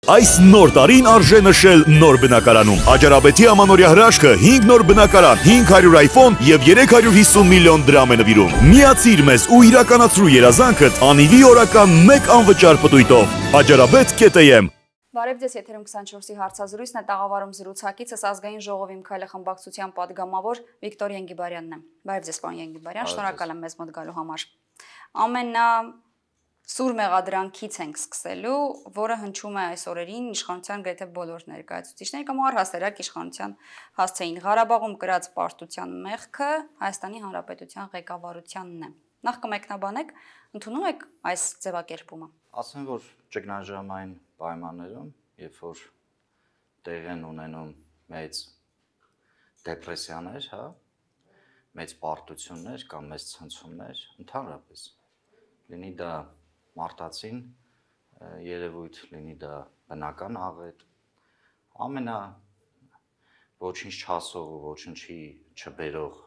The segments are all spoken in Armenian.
Այս նոր տարին արժե նշել նոր բնակարանում։ Աջարաբեթի ամանորյա հրաշքը 5 նոր բնակարան, 500 iPhone եւ 350 միլիոն դրամ է նվիրում։ Միացիր մեզ ու իրականացրու երազանքդ անիվի օրական 1 անվճար պտույտով։ Աջարաբեթ.am Բարև ձեզ, եթերում 24-ի հարցազրույցն է, տաղավարում զրուցակիցս ազգային ժողովի Միքայել խմբակցության պատգամավոր Վիկտոր Ենգիբարյանն է։ Բարև ձեզ, պարոն Ենգիբարյան, շնորհակալ եմ մեզ մոտ գալու համար։ Ամենասուր մեղադրանքից ենք սկսելու, որը հնչում է այս օրերին իշխանության գրեթե բոլոր ներկայացուցիչները կամ առհասարակ իշխանության հասցեին։ Ղարաբաղում կրած պարտության մեղքը Հայաստանի Հանրապետության ղեկավարությանն է։ Նախ կմեկնաբանեք, ընդունում եք այս ձևակերպումը։ Ասեմ, որ ճգնաժամային պայմաններում, երբ որ տեղի են ունենում մեծ դեպրեսիաներ, մեծ պարտություններ կամ մեծ ցնցումներ, ընդհանրապես լինի դա մարտածին երևույթ, լինի դա բնական աղետ, ամենա ոչինչ չասող ու ոչինչի չբերող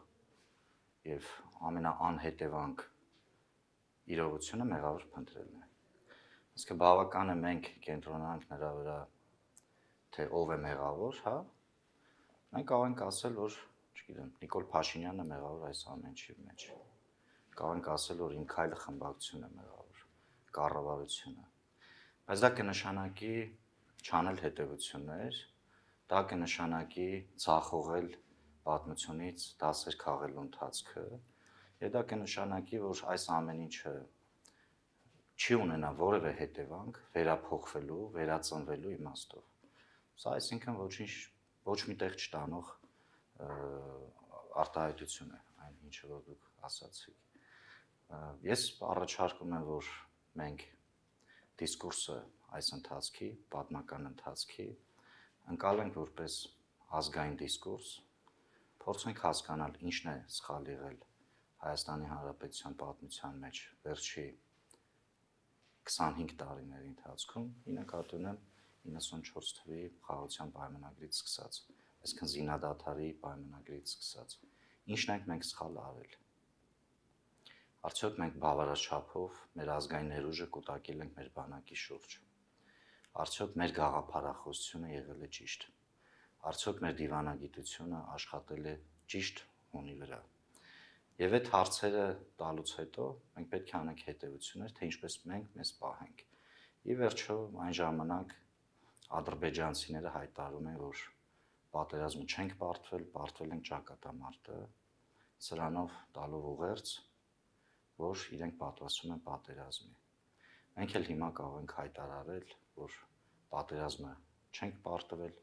եւ ամենաանհետևանք իրողությունը մեղավոր փնտրելն է։ Իսկ բավական է մենք կենտրոնանանք նրա վրա, թե ով է մեղավոր, մենք կարող ենք ասել, որ, չգիտեմ, Նիկոլ Փաշինյանն է մեղավոր այս ամենի մեջ։ Կարող ենք ասել, որ Միքայել խմբակցությունն է մեղավոր, կառավարությունը։ Բայց դա կնշանակի չանել հետևություններ, դա կնշանակի ցախողել պատմությունից դասեր քաղելու ընթացքը, եւ դա կնշանակի, որ այս ամեն ինչը չի ունենա որևէ հետևանք վերափոխվելու, վերածնվելու իմաստով։ Սա այսինքն ոչ միտեղ չտանող արտահայտություն է, այն ինչը որ դուք ասացիք։ Ես առաջարկում եմ, որ մենք դիսկուրսը այս ընթացքի, պատմական ընթացքի ընկալենք որպես ազգային դիսկուրս, փորձենք հասկանալ ինչն է սխալ եղել Հայաստանի Հանրապետության պատմության մեջ վերջի 25 տարիների ընթացքում, ի նկատի ունեմ 94 թվականի խաղաղության պայմանագրից սկսած, այսինքն զինադադարի պայմանագրից սկսած, ինչն ենք մենք սխալ արել։ Արդյոք մենք բավարար չափով մեր ազգային ներուժը կուտակել ենք մեր բանակի շուրջ։ Արդյոք մեր գաղափարախոսությունը եղել է ճիշտ։ Արդյոք մեր դիվանագիտությունը աշխատել է ճիշտ հունի վրա։ Եվ այդ հարցերը տալուց հետո մենք պետք է անենք հետևություններ, թե ինչպես մենք մեզ պահենք։ Ի վերջո այն ժամանակ ադրբեջանցիները հայտարարում են, որ պատերազմը չենք պարտվել ենք ճակատամարտը, սրանով տալով ուղերձ, որ իրենք պատրաստվում են պատերազմի։ Մենք էլ հիմա կարող ենք հայտարարել, որ պատերազմը չենք պարտվել,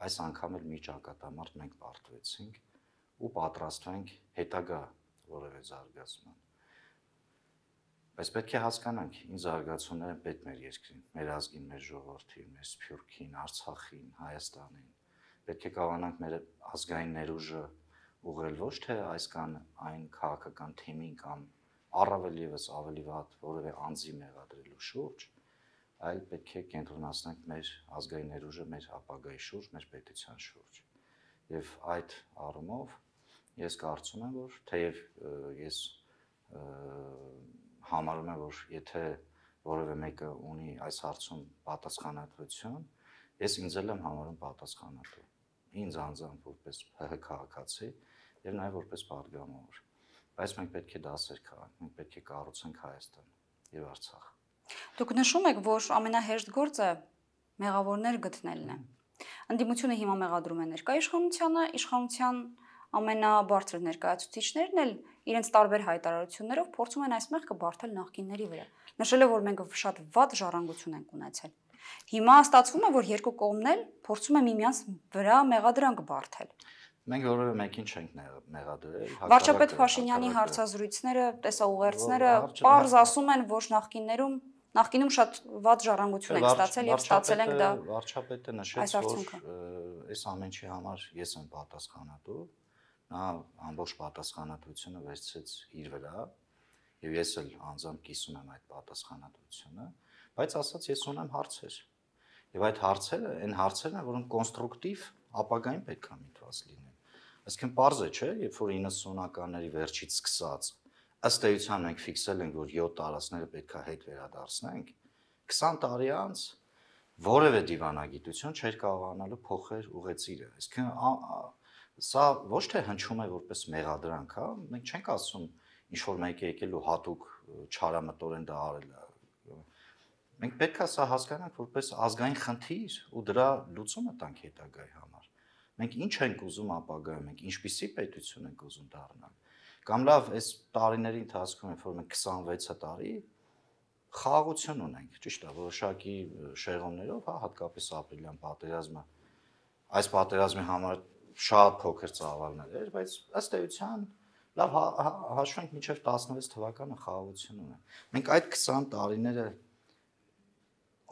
այս անգամ էլ մի ճակատամարտ մենք պարտվեցինք ու պատրաստվենք հետագա որևէ զարգացման։ Բայց պետք է հասկանանք, ինչ զարգացումներ են պետք մեր երկրին, մեր ազգին, մեր ժողովրդին, մեր Սփյուռքին, Արցախին, Հայաստանին։ Պետք է կարողանանք մեր ազգային ներուժը ուղղել ոչ թե այս կան այն քաղաքական թեմին կամ առավել եւս ավելի վատ որևէ անձի մեղադրելու շուրջ, այլ պետք է կենտրոնացնենք մեր ազգային ներուժը մեր ապագայի շուրջ, մեր պետության շուրջ։ Եվ այդ առումով ես կարծում եմ, որ թեև ես համարում եմ, որ եթե որևէ մեկը ունի այս հարցում պատասխանատվություն, ես ինձ էլ եմ համարում պատասխանատու։ Ինձ անձամբ որպես ՀՀ քաղաքացի եւ նաեւ որպես պատգամավոր։ Բայց մենք պետք է դասեր քաղենք, մենք պետք է կառուցենք Հայաստան եւ Արցախ։ Դուք նշում եք, որ ամենահեշտ գործը մեղավորներ գտնելն է։ Ընդդիմությունը հիմա մեղադրում է ներկայ իշխանությանը, իշխանության ամենաբարձր ներկայացուցիչներն էլ իրենց տարբեր հայտարարություններով փորձում են այս մեղքը բարթել նախկինների վրա, նշելով, որ մենք շատ վատ ժառանգություն ենք ունեցել։ Հիմա ստացվում է, որ երկու կողմն էլ փորձում են միմյանց վրա մեղադրանք բարթել։ Մենք որևէ մեկին չենք մեղադրել։ Վարչապետ Փաշինյանի հարցազրույցները, տեսաուղերձները պարզ ասում են, որ նախկինում շատ վատ ժառանգություն ենք ստացել եւ ստացել ենք դա։ Վարչապետը նշեց, որ այս ամենի համար ես եմ պատասխանատու, նա ամբողջ պատասխանատվությունը վերցրեց իր վրա եւ ես էլ անձամբ կիսում եմ այդ պատասխանատվությունը, բայց ասած ես ունեմ հարցեր։ Եվ այդ հարցերը, այն հարցերն են, որոնք կոնստրուկտիվ ապագային պետք է միտված լինեն։ Այսինքն պարզ է, չէ, երբ որ 90-ականների վերջից սկսած ըստ էության մենք ֆիքսել ենք, որ 7 տարածքները պետք է հետ վերադարձնենք, 20 տարի անց որևէ դիվանագիտություն չէր կարողանալու փոխել ուղեցիրը։ Այսինքն սա ոչ թե հնչում է որպես մեղադրանք, հա, մենք չենք ասում ինչ որ մեկը եկել ու հատուկ չարամտորեն դա արել է։ Մենք պետք է սա հասկանանք որպես ազգային խնդիր ու դրա լուծումը տանք հետագայի համար։ Մենք ինչ ենք ուզում ապագայում, մենք ինչպիսի պետություն ենք ուզում դառնալ։ Կամ լավ, այս տարիների ընթացքում, երբ որ մենք 26 տարի խաղաղություն ունենք, ճիշտ է, որոշակի շեղումներով, հա, հատկապես ապրիլյան պատերազմը, այս պատերազմի համար շատ փոքր ծավալներ էր, բայց ըստ էության լավ հաշվենք մինչև 16 թվականը խաղաղություն ունենք։ Մենք այդ 20 տարիները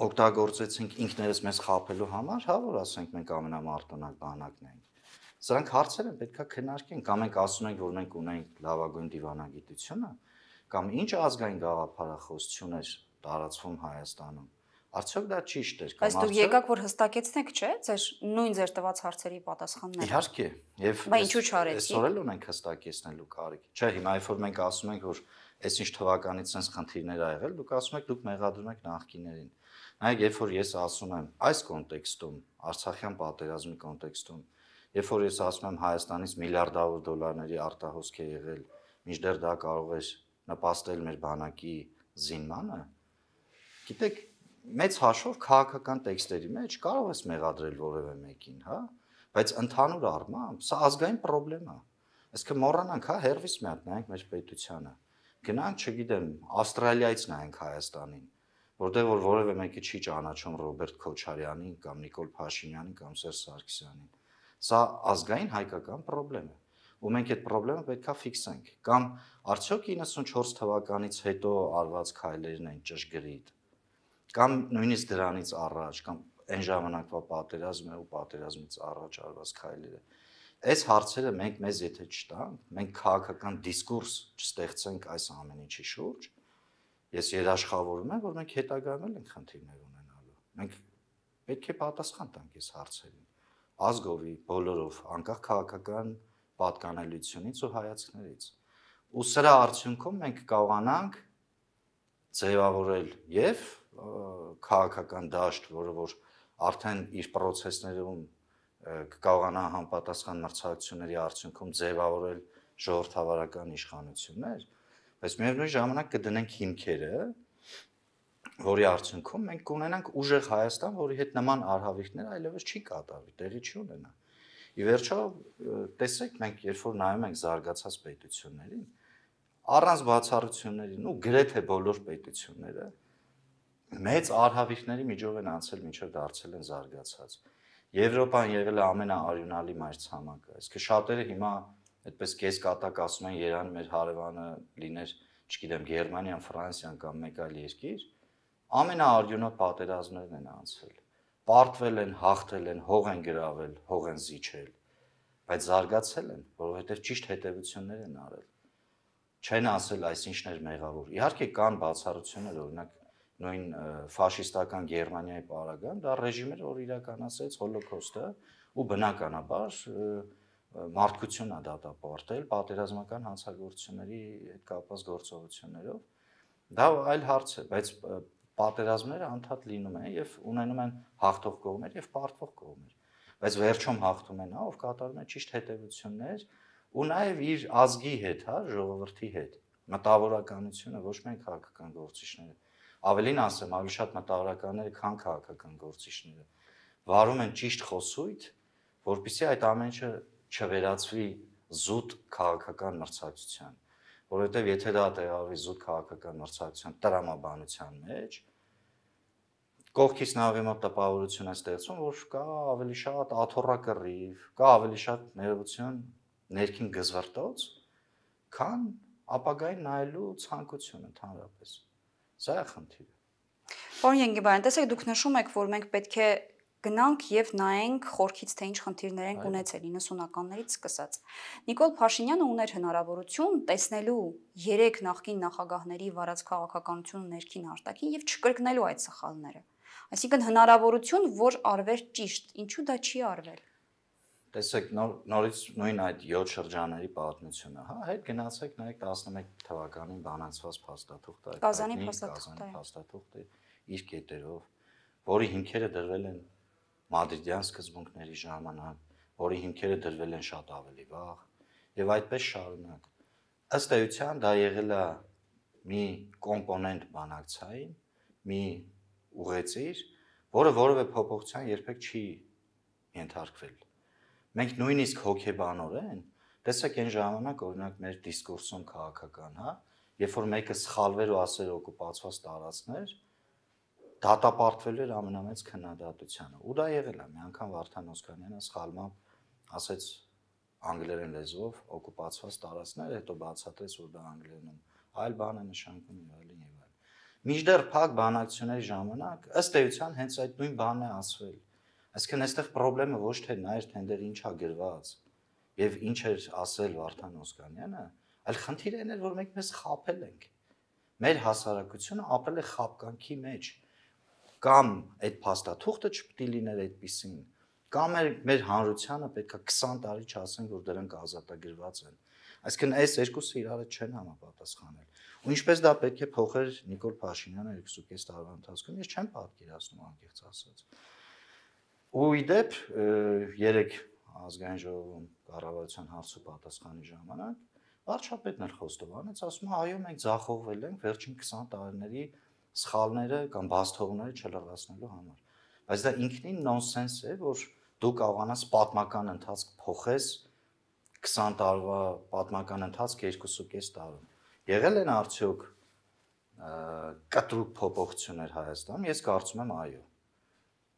օգտագործեցինք ինքներս մեզ խաբելու համար, հա, որ ասենք մենք ամենամարտոնակ բանակն ենք։ Սրանք հարցեր են պետքա քննարկենք, կամ մենք ասում ենք, որ մենք ունենք լավագույն դիվանագիտությունը, կամ ինչ ազգային գաղափարախոսություն էր տարածվում Հայաստանում։ Արդյոք դա ճիշտ էր կամ Բայց դուք եկաք որ հստակեցնեք, չէ՞, ձեր տված հարցերի պատասխանները։ Իհարկե, եւ Բայց ինչու չարեցիք։ Այսօր էլ ունենք հստակեցնելու կարիք։ Չէ, հիմա երբ որ մենք ասում ենք, որ այսինչ թվականից sense խնդիրներ ա եղել, դուք ասում եք դուք մեղադրում եք նախկիներին։ Նայեք, երբ որ ես ասում եմ այս կոնտեքստում, Արցախյան պատերազմի կոնտեքստում, երբ որ ես ասում եմ Հայաստանից միլիարդավոր դոլարների արտահոսք է եղել, մինչդեռ դա կարող է նպաստել մեր բանակի զինմանը, գիտեք, մեծ հաշվով քաղաքական տեքստերի մեջ կարող ես մեղադրել որևէ մեկին, հա, բայց ընդհանուր առմամբ սա ազգային խնդրեմ է։ Այսինքն մոռանանք, հա, հերվիս մի հատ նայենք մեր պետությանը։ Գնանք, չգիտեմ, Ավստրալիայից նայենք Հայաստանին, որտեղ որ որևէ մեկը չի ճանաչում Ռոբերտ Քոչարյանին կամ Նիկոլ Փաշինյանին կամ Սերժ Սարգսյանին։ Սա ազգային հայկական խնդրեմ է։ Ու մենք այդ խնդրեմը պետքա ֆիքսենք։ Կամ արդյոք 94 թվականից հետո արված քայլերն են ճշգրիտ։ Կամ նույնիսկ դրանից առաջ, կամ այն ժամանակվա պատերազմը ու պատերազմից առաջ արված քայլերը։ Այս հարցերը մենք մեզ եթե չտանք, մենք քաղաքական դիսկուրս չստեղծենք այս ամեն ինչի շուրջ, ես երաշխավորում եմ, որ մենք հետագայում ենք խնդիրներ ունենալու։ Մենք պետք է պատասխան տանք այս հարցերին, ազգովի, բոլորով, անկախ քաղաքական պատկանելությունից ու հայացքներից։ Ու սրա արդյունքում մենք կարողանանք ձևավորել եւ քաղաքական դաշտ, որը որ արդեն իր process-ներում կկարողանա համապատասխան մրցակցությունների արդյունքում ձևավորել ժողովրդավարական իշխանություններ, բայց միևնույն ժամանակ կդնենք հիմքերը, որի արդյունքում մենք կունենանք ուժեղ Հայաստան, որի հետ նման արհավիրքներ այլևս չի կատարվի, տեղի չի ունենա։ Ի վերջո, տեսեք, մենք երբ որ նայում ենք զարգացած պետություններին, առանց բացառություններին ու գրեթե բոլոր պետությունները մեծ արհավիրքների միջով են անցել մինչև դարձել են զարգացած։ Եվրոպան եղել է ամենաարյունալի մայրցամաքը, այսինքն շատերը հիմա այդպես կեսկատակ ասում են Երևանը մեր հարևանը լիներ, չգիտեմ, Գերմանիան, Ֆրանսիան կամ մեկ այլ երկիր, ամենաարյունոտ պատերազմներն են անցել։ Պարտվել են, հաղթել են, հող են գրավել, հող են զիջել, բայց զարգացել են, որովհետև ճիշտ հետևություններ են արել։ Չեն ասել այսինչն էր մեղավոր։ Իհարկե կան բացառություններ, օրինակ նույն ֆաշիստական Գերմանիայի պարագան, դա ռեժիմը որ իրականացրեց հոլոկոստը ու բնականաբար մարդկությունն է դատապարտել պատերազմական հանցագործությունների հետ կապված գործողություններով։ Դա այլ հարց է, բայց պատերազմները անդադ լինում են եւ ունենում են հաղթող կողմեր եւ պարտվող կողմեր։ Բայց վերջում հաղթում են, հա, ով կատարում է ճիշտ հետևություններ ու նաեւ իր ազգի հետ, հա, ժողովրդի հետ։ Մտավորականությունը ոչ միայն քաղաքական գործիչները, ավելին ասեմ, ավելի շատ մտավորականները, քան քաղաքական գործիչները, վարում են ճիշտ խոսույթ, որպեսզի այդ ամեն ինչը չվերածվի զուտ քաղաքական մրցակցության, որովհետև եթե դա տեղավորվի զուտ քաղաքական մրցակցության տրամաբանության մեջ, կողքից նավի մոտ տպավորություն է ստեղծում, որ կա ավելի շատ աթոռակռիվ, կա ավելի շատ ներողություն ներքին գզվռտոց, քան ապագային նայելու ցանկություն ընդհանրապես։ Սա է խնդիրը։ Պարոն Ենգիբարյան, տեսեք, դուք նշում եք, որ մենք պետք է գնանք եւ նայենք խորքից թե ինչ խնդիրներ են ունեցել 90-ականներից սկսած։ Նիկոլ Փաշինյանը ուներ հնարավորություն տեսնելու 3 նախկին նախագահների վարած քաղաքականությունը ներքին արտաքին եւ չկրկնելու այդ սխալները։ Այսինքն հնարավորություն, որ արվեր ճիշտ, ինչու դա չի արվել։ Տեսեք, նորից նույն այդ 7 շրջանների պատմությունը, հա, հետ գնացեք նայեք 11 թվականին բանացված փաստաթուղթը, Կազանի փաստաթուղթը իր կետերով, որի հիմքերը դրվել են մադրիդյան սկզբունքների ժամանակ, որի հիմքերը դրվել են շատ ավելի վաղ, եւ այդպես շարունակ։ Ըստ էության դա եղել է մի կոմպոնենտ բանակցային, մի ուղեցիր, որը որևէ փոփոխության երբեք չի ենթարկվել։ Մենք նույնիսկ հոգեբանորեն, տեսեք այն ժամանակ օրինակ մեր դիսկուրսում քաղաքական, հա, երբ որ մեկը սխալվեր ու ասեր օկուպացված տարածքներ, դատապարտվելու էր ամենամեծ քննադատությանը։ Ու դա եղել է, մի անգամ Վարդան Օսկանյանը սխալմամբ ասեց անգլերեն լեզվով օկուպացված տարածքներ, հետո բացատրեց, որ դա անգլերենում այլ բան է նշանակում եւ այլն եւ այլն։ Մինչդեռ փակ բանակցությունների ժամանակ ըստ էության հենց այդ նույն բանն է ասվել։ Այսինքն այստեղ խնդրեմը ոչ թե նա էր, թե դեր ինչ է գրված եւ ինչ էր ասել Վարդան Օսկանյանը, այլ խնդիրը այն էր, որ մենք մեզ խաբել ենք։ Մեր հասարակությունը ապրել է խաբկանքի մեջ։ Կամ այդ փաստաթուղթը չպետք է լիներ այդպիսին, կամ մեր հանրությանը պետք է 20 տարի չասենք, որ դրանք ազատագրված են։ Այսինքն այս երկուսը իրար չեն համապատասխանել։ Ու ինչպես դա պետք է փոխեր Նիկոլ Փաշինյանը 2.5 տարվա ընթացքում, ես չեմ պատկերացնում անկեղծ ասած։ Ու իդեպ 3 ազգային ժողովում կառավարության հարցու պատասխանի ժամանակ վարչապետն էլ խոստովանեց, ասում է, այո, մենք ձախողվել ենք վերջին 20 տարիների սխալները կամ բացթողումները չլրացնելու համար։ Բայց դա ինքնին նոնսենս է, որ դու կարողանաս պատմական ընթացք փոխես 20 տարվա պատմական ընթացք 2.5 տարում։ Եղել են արդյոք կտրուկ փոփոխություններ Հայաստանում, ես կարծում եմ այո։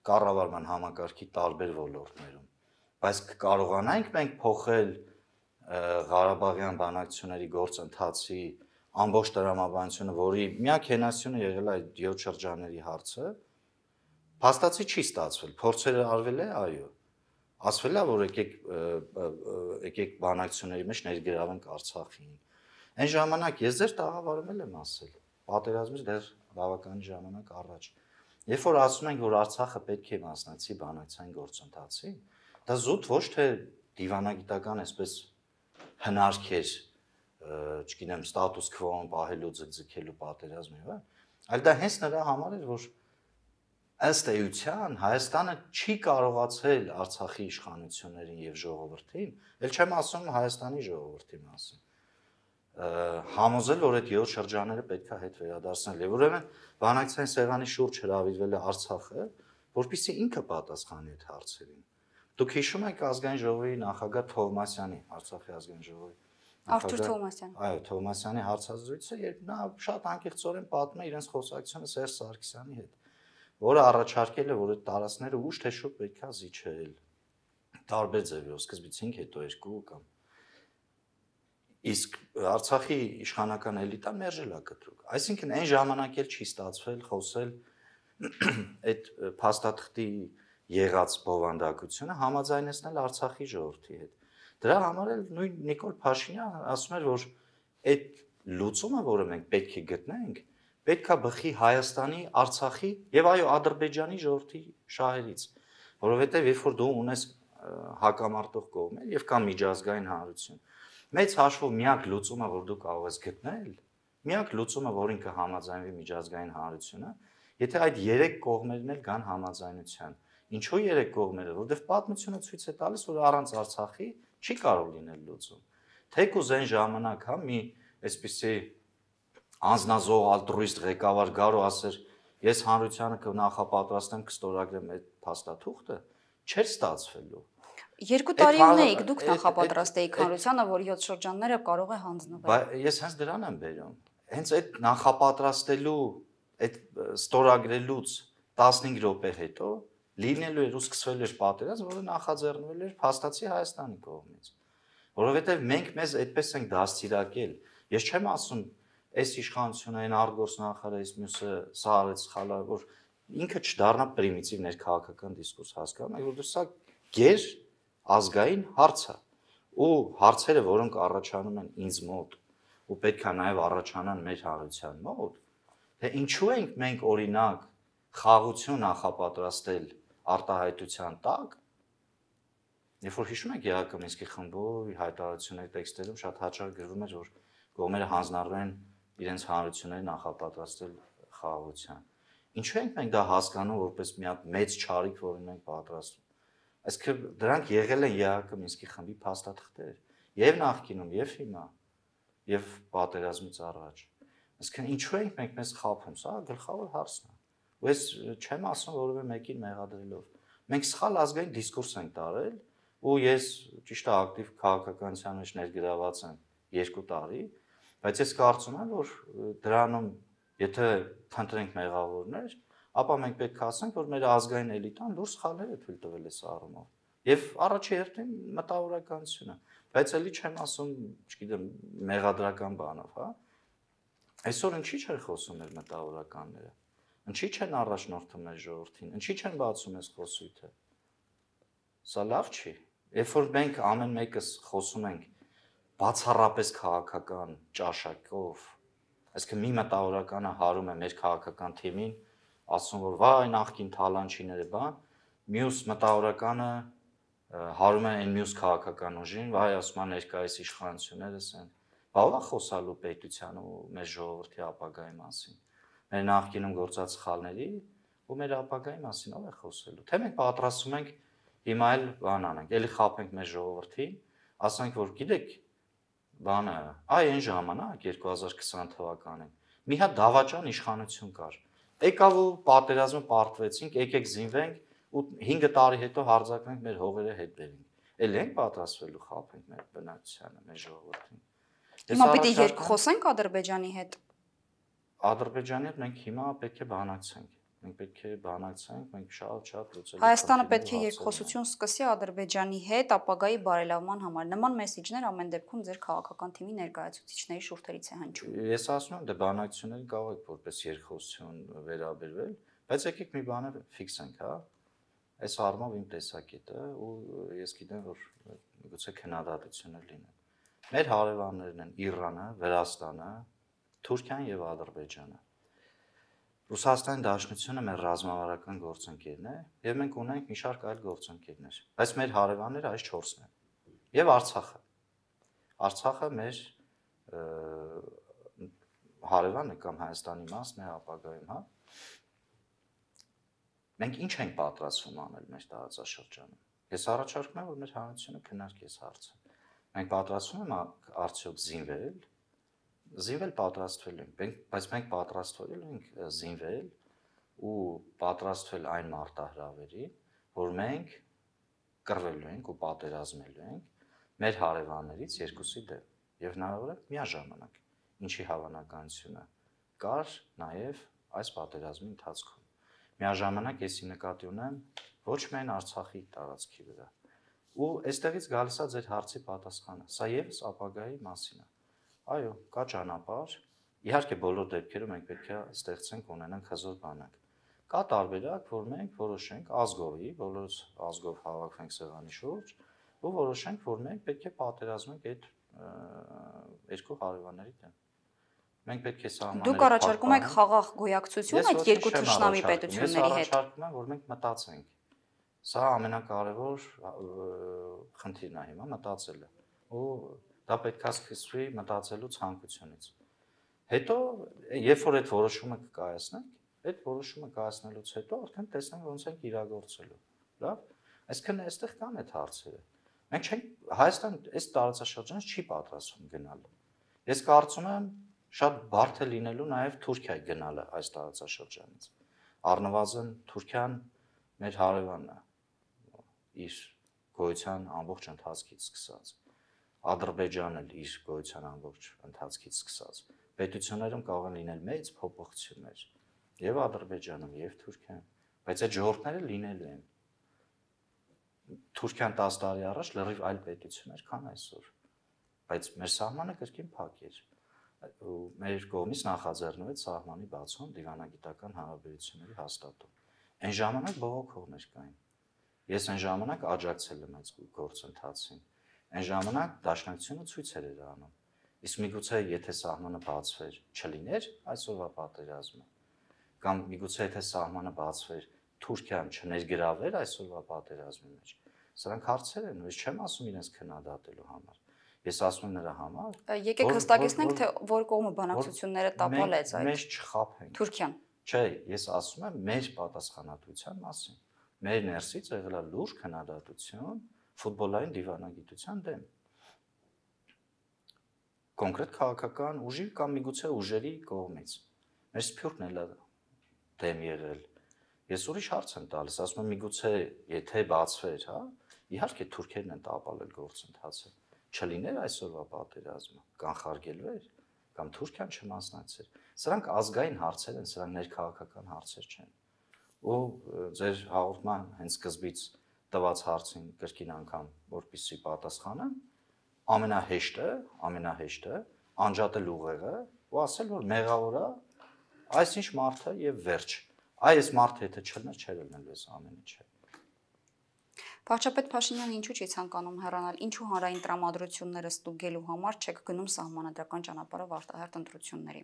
Կառավարման համակարգի տարբեր ոլորտներում, բայց կարողանանք մենք փոխել Ղարաբաղյան բանակցությունների գործընթացի ամբողջ տրամաբանությունը, որի միակ հենասյունը եղել է 7 շրջանների հարցը, փաստացի չի ստացվել, փորձերը արվել է, այո։ Ասվել է, որ եկեք բանակցությունների մեջ ներգրավենք Արցախին։ Այն ժամանակ ես ձեր տաղավարում եմ ասել, պատերազմից դեռ բավական ժամանակ առաջ։ Երբ որ ասում ենք, որ Արցախը պետք է մասնակցի բանակցային գործընթացին, դա զուտ ոչ թե դիվանագիտական այսպես հնարք էր, չգիտեմ, ստատուս քվոն պահելու ձգձգելու պատերազմի, այլ դա հենց նրա համար էր, որ ըստ էության Հայաստանը չի կարողացել Արցախի իշխանություններին եւ ժողովրդին, ել չեմ ասում Հայաստանի ժողովրդի մասին, համոզել, որ այդ 7 շրջանները պետք է հետ վերադարձնել։ Եվ ուրեմն բանակցային սեղանի շուրջ հրավիրվել է Արցախը, որպեսզի ինքը պատասխանի այդ հարցերին։ Դուք հիշում եք ազգային ժողովի նախագահ Թովմասյանի, Արցախի ազգային ժողովի Արթուր Թովմասյան։ Այո, Թովմասյանի հարցազրույցը, երբ նա շատ անկեղծորեն պատմում է իրենց խոսակցությունը Սերժ Սարգսյանի հետ, որը առաջարկել է, որ այդ տարածքները ուշ թե շուտ պետք է զիջել։ Տարբեր ձևերով, սկզբից 5, հետո 2 կամ իսկ Արցախի իշխանական էլիտան մերժել է կտրուկ։ Այսինքն այն ժամանակ էլ չի ստացվել խոսել այդ փաստաթղթի եղած բովանդակությունը համաձայնեցնել Արցախի ժողովրդի հետ։ Դրա համար էլ նույն Նիկոլ Փաշինյանը ասում էր, որ այդ լուծումը, որը մենք պետք է գտնենք, պետք է բխի Հայաստանի, Արցախի եւ այո Ադրբեջանի ժողովրդի շահերից, որովհետեւ երբ որ դու ունես հակամարտող կողմեր եւ կա միջազգային հանրություն, մեծ հաշվով միակ լուծումը, որ դու կարող ես գտնել, միակ լուծումը, որին կհամաձայնվի միջազգային հանրությունը, եթե այդ 3 կողմերն էլ գան համաձայնության։ Ինչու 3 կողմերը, որովհետեւ պատմությունը ցույց է տալիս, որ առանց Արցախի չի կարող լինել լուծում։ Թեկուզ այն ժամանակ, հա, մի այսպիսի անznազող ալտրուիստ ղեկավար գար ու ասեր, ես հանրությանը կնախապատրաստեմ, կստորագրեմ այդ փաստաթուղթը, չէր ստացվելու։ 2 տարի ունեիք, դուք նախապատրաստեիք հանրությանը, որ 7 շրջանները կարող է հանձնվել։ Ես հենց դրան եմ բերում։ Հենց այդ նախապատրաստելու, այդ ստորագրելուց 15 րոպե հետո լինելու էր ու սկսվել էր պատերազմ, որը նախաձեռնվել էր փաստացի Հայաստանի կողմից։ Որովհետև մենք մեզ այդպես ենք դաստիարակել։ Ես չեմ ասում, այս իշխանությունը այն արտգործնախարարը, այս մյուսը սա արեց սխալ, որ ինքը չդառնա պրիմիտիվ ներքաղաքական դիսկուրս հասկանում, այլ որ սա գեր ազգային հարց է։ Ու հարցերը, որոնք առաջանում են ինձ մոտ, ու պետք է նաև առաջանան մեր հանրության մոտ, թե ինչու ենք մենք օրինակ խաղաղություն նախապատրաստել արտահայտության տակ, երբ որ հիշում եք Եղակը Մինսկի խմբի հայտարարությունների տեքստերում շատ հաճախ գրվում էր, որ կողմերը հանձնարարում են իրենց հանրությունների նախապատրաստել խաղաղության։ Ինչու ենք մենք դա հասկանում որպես մի հատ մեծ չարիք, որին մենք պատրաստվում։ Այսինքն դրանք եղել են ԵԱՀԿ Մինսկի խմբի փաստաթղթեր, եւ նախկինում, եւ հիմա, եւ պատերազմից առաջ։ Այսինքն ինչու ենք մենք մեզ խափում, սա գլխավոր հարցն է։ Ու ես չեմ ասում որևէ մեկին մեղադրելով։ Մենք սխալ ազգային դիսկուրս ենք տարել, ու ես ճիշտ է ակտիվ քաղաքականության մեջ ներգրաված եմ 2 տարի, բայց ես կարծում եմ, որ դրանում եթե փնտրենք մեղավորներ, ապա մենք պետք է ասենք, որ մեր ազգային էլիտան լուրջ սխալներ է թույլ տվել այս առումով։ Եվ առաջի հերթին մտավորականությունը, բայց էլի չեմ ասում, չգիտեմ, մեղադրական բանով, հա։ Այսօր ինչի՞ չեն խոսում մեր մտավորականները։ Ինչի՞ չեն առաջնորդում մեր ժողովրդին, ինչի՞ չեն բացում այս խոսույթը։ Սա լավ չի։ Երբ որ մենք ամեն մեկս խոսում ենք բացառապես քաղաքական ճաշակով, այսինքն մի մտավորականը հարում է մեր քաղաքական թիմին, ասում որ վայ նախքին թալանչիները բան, մյուս մտավորականը հարում է այն մյուս քաղաքական ուժին, վայ ասում են ներկայիս իշխանություններս են։ Բա ո՞վ է խոսալու պետության ու մեր ժողովրդի ապագայի մասին։ Մեր նախկինում գործած սխալների ու մեր ապագայի մասին ո՞վ է խոսելու։ Թե մենք պատրաստվում ենք հիմա էլ բան անենք, էլի խափենք մեր ժողովրդին, ասենք որ գիտեք բանը, այն ժամանակ 2020 թվականին մի հատ դավաճան իշխանություն կար։ Եկավ ու պատերազմը պարտվեցինք, եկեք զինվենք ու 5 տարի հետո հարձակվենք մեր հողերը հետ բերենք։ Էլ ենք պատրաստվելու խափենք մեր բնակչությանը, մեր ժողովրդին։ Հիմա պիտի երկխոսենք Ադրբեջանի հետ։ Ադրբեջանի հետ մենք հիմա պետք է բանակցենք։ Մենք պետք է բանակցենք, մենք շատ լուծել։ Հայաստանը պետք է երկխոսություն սկսի Ադրբեջանի հետ ապագայի բարելավման համար։ Նման մեսիջներ ամեն դեպքում ձեր քաղաքական թիմի ներկայացուցիչների շուրթերից է հնչում։ Ես ասում եմ, դե բանակցություններին կարող եք որպես երկխոսություն վերաբերվել, բայց եկեք մի բանը ֆիքսենք, հա։ Այս առումով իմ տեսակետը ու ես գիտեմ, որ գուցե քննադատություններ լինեն։ Մեր հարևաններն են Իրանը, Վրաստանը, Թուրքիան եւ Ադրբեջանը։ Ռուսաստանի Դաշնությունը մեր ռազմավարական գործընկերն է եւ մենք ունենք մի շարք այլ գործընկերներ, բայց մեր հարևանները այս 4-ն են։ Եվ Արցախը։ Արցախը մեր հարևանը կամ Հայաստանի մասն է ապագայում, հա։ Մենք ինչ ենք պատրաստվում անել մեր տարածաշրջանում։ Ես առաջարկում եմ, որ մեր հանրությունը քննարկի այս հարցը։ Մենք պատրաստվում ենք արդյոք զինվել պատրաստվել ենք, բայց մենք պատրաստվել ենք զինվել ու պատրաստվել այն մարտահրավերի, որ մենք կռվելու ենք ու պատերազմելու ենք մեր հարևաններից երկուսի դեմ եւ հնարավոր է միաժամանակ, ինչի հավանականությունը կար նաեւ այս պատերազմի ընթացքում։ Միաժամանակ եսի նկատի ունեմ ոչ միայն Արցախի տարածքի վրա։ Ու այստեղից գալիս է ձեր հարցի պատասխանը։ Սա եւս ապագայի մասին է։ Այո, կա ճանապարհ։ Իհարկե բոլոր դեպքերում մենք պետք է ստեղծենք ունենանք հզոր բանակ։ Կա տարբերակ, որ մենք որոշենք ազգովի, բոլորս ազգով հավաքվենք սեղանի շուրջ, ու որոշենք, որ մենք պետք է պատերազմենք այդ երկու հարևանների դեմ։ Մենք պետք է սահմաններ։ Դուք առաջարկում եք խաղաղ գոյակցություն այդ երկու թշնամի պետությունների հետ։ Ես առաջարկում եմ, որ մենք մտածենք։ Սա ամենակարևոր խնդիրն է հիմա մտածելը։ Ու դա պետք է սկսվի մտածելու ցանկությունից։ Հետո, երբ որ այդ որոշումը կկայացնենք, այդ որոշումը կայացնելուց հետո արդեն տեսնենք ոնց ենք իրագործելու։ Լավ։ Այսինքն այստեղ կան այդ հարցերը։ Մենք չենք Հայաստան այս տարածաշրջանից չի պատրաստվում գնալ։ Ես կարծում եմ շատ բարդ է լինելու նաև Թուրքիայի գնալը այս տարածաշրջանից։ Առնվազն Թուրքիան մեր հարևանն է իր գոյության ամբողջ ընթացքից սկսած։ Ադրբեջանն էլ իր գոյության ամբողջ ընթացքից սկսած։ Պետություններում կարող են լինել մեծ փոփոխություններ եւ Ադրբեջանում եւ Թուրքիայում, բայց այդ ժողովուրդները լինելու են։ Թուրքիան 10 տարի առաջ լրիվ այլ պետություն էր, քան այսօր։ Բայց մեր սահմանը կրկին փակ էր։ Ու մեր կողմից նախաձեռնվեց սահմանի բացում դիվանագիտական հարաբերությունների հաստատում։ Այն ժամանակ բողոքողներ կային։ Ես այն ժամանակ աջակցել եմ այս գործընթացին։ Այն ժամանակ դաշնակցությունը ցույցեր էր անում։ Իսկ միգուցե եթե սահմանը բացվեր, չլիներ այսօրվա պատերազմը, կամ միգուցե եթե սահմանը բացվեր, Թուրքիան չներգրավեր այսօրվա պատերազմի մեջ։ Սրանք հարցեր են, ես չեմ ասում իրենց քննադատելու համար։ Ես ասում եմ նրա համար։ Եկեք հստակեցնենք, թե որ կողմը բանակցությունները տապալեց այդ։ Մենք չխափենք։ Թուրքիան։ Չէ, ես ասում եմ մեր պատասխանատվության մասին։ Մեր ներսից եղել է լուրջ քննադատություն ֆուտբոլային դիվանագիտության դեմ։ Կոնկրետ քաղաքական ուժի կամ միգուցե ուժերի կողմից։ Մեր սփյուռքն էլ է դեմ եղել։ Ես ուրիշ հարց եմ տալիս, ասում եմ միգուցե եթե բացվեր, հա, իհարկե թուրքերն են տապալել գործընթացը։ Չլիներ այսօրվա պատերազմը, կանխարգելվեր կամ Թուրքիան չմասնակցեր։ Սրանք ազգային հարցեր են, սրանք ներքաղաքական հարցեր չեն։ Ու ձեր հաղորդման հենց սկզբից տված հարցին կրկին անգամ որպեսզի պատասխանեմ, ամենահեշտը անջատել ուղեղը ու ասել, որ մեղավոր է այսինչ մարդը եւ վերջ։ Այս մարդը եթե չլներ, չէր լինելու այս ամեն ինչը։ Վարչապետ Փաշինյանը ինչու չի ցանկանում հեռանալ, ինչու հանրային տրամադրությունները ստուգելու համար չեք գնում սահմանադրական ճանապարհով արտահերթ ընտրությունների։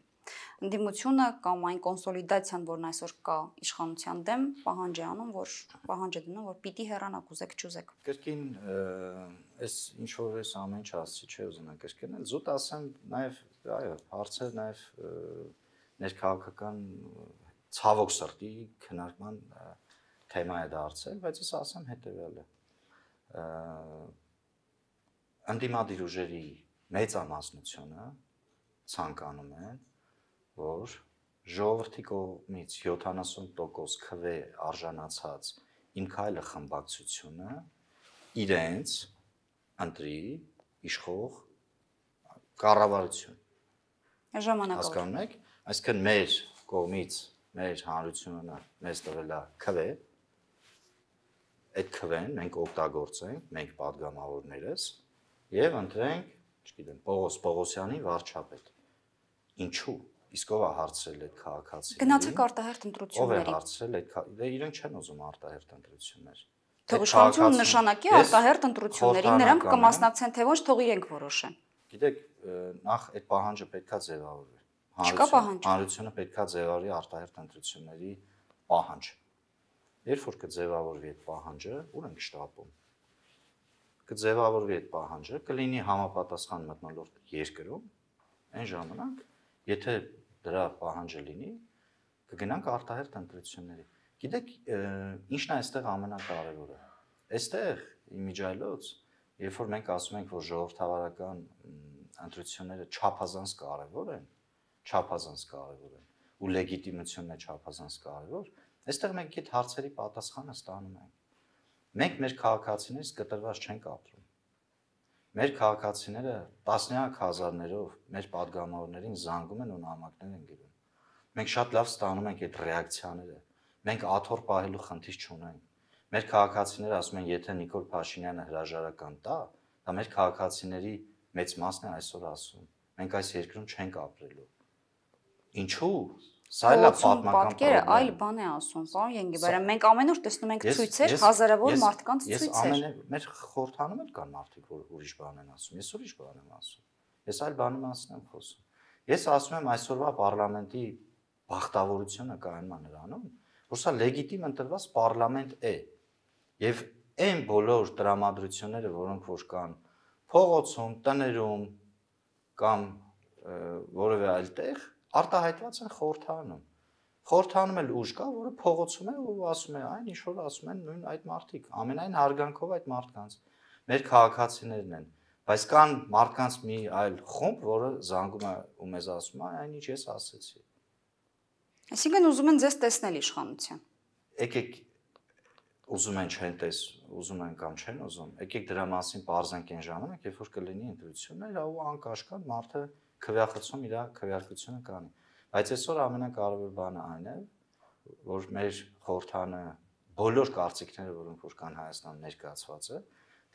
Ընդդիմությունը կամ այն կոնսոլիդացիան, որն այսօր կա իշխանության դեմ, պահանջ է անում, որ պիտի հեռանաք, ուզեք չուզեք։ Կրկին այս ինչ որ այս ամեն ինչ ասացի, չէ ուզենա կրկնել, զուտ ասեմ նաև, այո, հարցը նաև ներքաղաքական ցավոք սրտի քննարկման թեմա է դարձել, բայց ես ասեմ հետևյալը։ Ընդդիմադիր ուժերի մեծամասնությունը ցանկանում են, որ ժողովրդի կողմից 70% քվե արժանացած Իմ քայլը խմբակցությունը իրենց ընտրի իշխող կառավարություն։ Հասկանում եք, այսինքն մեր կողմից մեր հանրությունը մեզ տվել է քվե, այդ քվեն մենք օգտագործենք, մենք падգամավորներս եւ ընտրենք, չգիտեմ, Պողոս Պողոսյանի վարչապետ։ Ինչու՞։ Իսկ ով է հարցրել այդ քաղաքացիներին։ Գնացեք արտահերթ ընտրությունների։ Ով է հարցրել այդ իրենք չեն ուզում արտահերթ ընտրություններ։ Թող իշխանությունը նշանակի արտահերթ ընտրությունների, նրանք կմասնակցեն թե ոչ, թող իրենք որոշեն։ Գիտեք, նախ այդ պահանջը պետքա ձևավորվի։ Չկա պահանջ։ Հանրությունը պետքա ձևավորի արտահերթ ընտրությունների պահանջ։ Երբ որ կձևավորվի այդ պահանջը, ուր ենք շտապում։ Կձևավորվի այդ պահանջը, կլինի համապատասխան մթնոլորտ երկրում, այն ժամանակ, եթե դրա պահանջը լինի, կգնանք արտահերթ ընտրությունների։ Գիտեք, ինչն է այստեղ ամենակարևորը։ Այստեղ իմիջիայլոց, երբ որ մենք ասում ենք, որ ժողովրդավարական ընտրությունները չափազանց կարևոր են, ու լեգիտիմությունն է չափազանց կարևոր, այստեղ մենք այդ հարցերի պատասխանը ստանում ենք։ Մենք մեր քաղաքացիներից կտրված չենք ապրում։ Մեր քաղաքացիները տասնյակ հազարներով մեր падգամավորներին զանգում են ու նամակներ են գրում։ Մենք շատ լավ ստանում ենք այդ ռեակցիաները։ Մենք աթոռ պահելու խնդիր չունենք։ Մեր քաղաքացիները ասում են, եթե Նիկոլ Փաշինյանը հրաժարական տա, դա մեր քաղաքացիների մեծ մասն է այսօր ասում։ Մենք այս երկրում չենք ապրելու։ Ինչու՞։ Սա էլ է պատմական պատկերը այլ բան է ասում, պարոն Ենգիբարյան, մենք ամեն օր տեսնում ենք ցույցեր, հազարավոր մարդկանց ցույցեր։ Մեր խորհրդանում էլ կան մարդիկ, որ ուրիշ բան են ասում, ես ուրիշ բան եմ ասում։ Ես այլ բանի մասին եմ խոսում։ Ես ասում եմ այսօրվա պարլամենտի բախտավորությունը կայանում է նրանում, որ սա լեգիտիմ ընտրված պարլամենտ է։ Եվ այն բոլոր տրամադրությունները, որոնք որ կան փողոցում, տներում կամ որևէ այլ տեղ, արտահայտված են խորհրդանում։ Խորհրդանում էլ ուժ կա, որը փողոցում է ու ասում է այն, ինչ որ ասում են նույն այդ մարդիկ, ամենայն հարգանքով այդ մարդկանց։ Մեր քաղաքացիներն են, բայց կան մարդկանց մի այլ խումբ, որը զանգում է ու մեզ ասում է այն, ինչ ես ասեցի։ Այսինքն ուզում են ձեզ տեսնել իշխանության։ Եկեք ուզում են չեն ուզում են կամ չեն ուզում, եկեք դրա մասին պարզենք այն ժամանակ, երբ որ կլինի ընտրություններ, ու անկաշկան մարդը քվեախցում իր քվեարկությունը կանի։ Բայց այսօր ամենակարևոր բանը այն է, որ մեր խորհրդանը բոլոր կարծիքները, որոնք որ կան Հայաստանում ներկայացված է,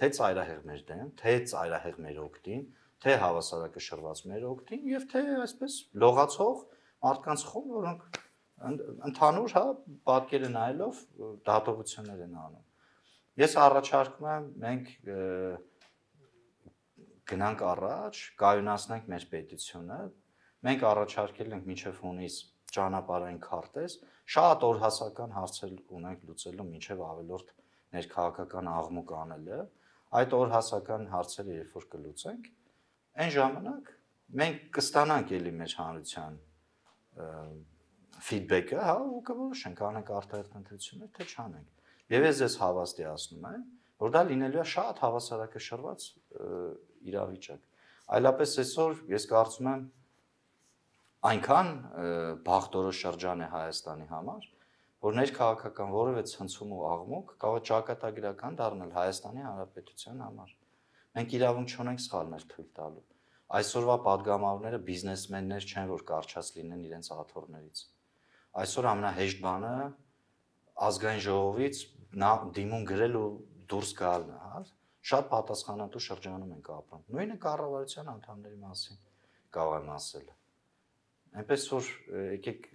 թե ծայրահեղ մեր դեմ, թե ծայրահեղ մեր օգտին, թե հավասարակշռված մեր օգտին եւ թե այսպես լողացող մարդկանց խումբ, որոնք ընդհանուր հա պատկերը նայելով դատողություններ են անում։ Ես առաջարկում եմ մենք գնանք առաջ, կայունացնենք մեր պետությունը, մենք առաջարկել ենք մինչև հունիս ճանապարհային քարտեզ, շատ օրհասական հարցեր ունենք լուծելու մինչև ավելորդ ներքաղաքական աղմուկ անելը, այդ օրհասական հարցերը երբ որ կլուծենք, այն ժամանակ մենք կստանանք էլի մեր հանրության feedback-ը, հա, ու կորոշենք անենք արտահերթ ընտրություններ, թե չանենք։ Եվ ես ձեզ հավաստիացնում եմ, որ դա լինելու է շատ հավասարակշռված իրավիճակ։ Այլապես այսօր ես կարծում եմ այնքան բախտորոշ շրջան է Հայաստանի համար, որ ներքաղաքական որևէ ցնցում ու աղմուկ կարող է ճակատագրական դառնալ Հայաստանի Հանրապետության համար։ Մենք իրավունք չունենք սխալներ թույլ տալու։ Այսօրվա падգամավորները բիզնեսմեններ չեն, որ կարճած լինեն իրենց աթոռներից։ Այսօր ամենահեշտ բանը ազգային ժողովից դիմում գրել ու դուրս գալն է, հա։ Շատ պատասխանատու շրջանում ենք ապրում։ Նույնը կառավարության անդամների մասին կարող եմ ասել։ Այնպես որ եկեք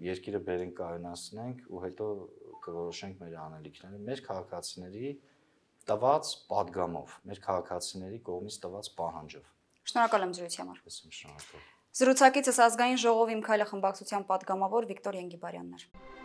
երկիրը բերենք կայունացնենք ու հետո կորոշենք մեր անելիքները մեր քաղաքացիների տված падգամով, մեր քաղաքացիների կողմից տված պահանջով։ Շնորհակալ եմ զրույցի համար։ Շնորհակալ։ Զրուցակիցս ազգային ժողովի Մքայլը խմբակցության падգամավոր Վիկտոր Ենգիբարյանն էր։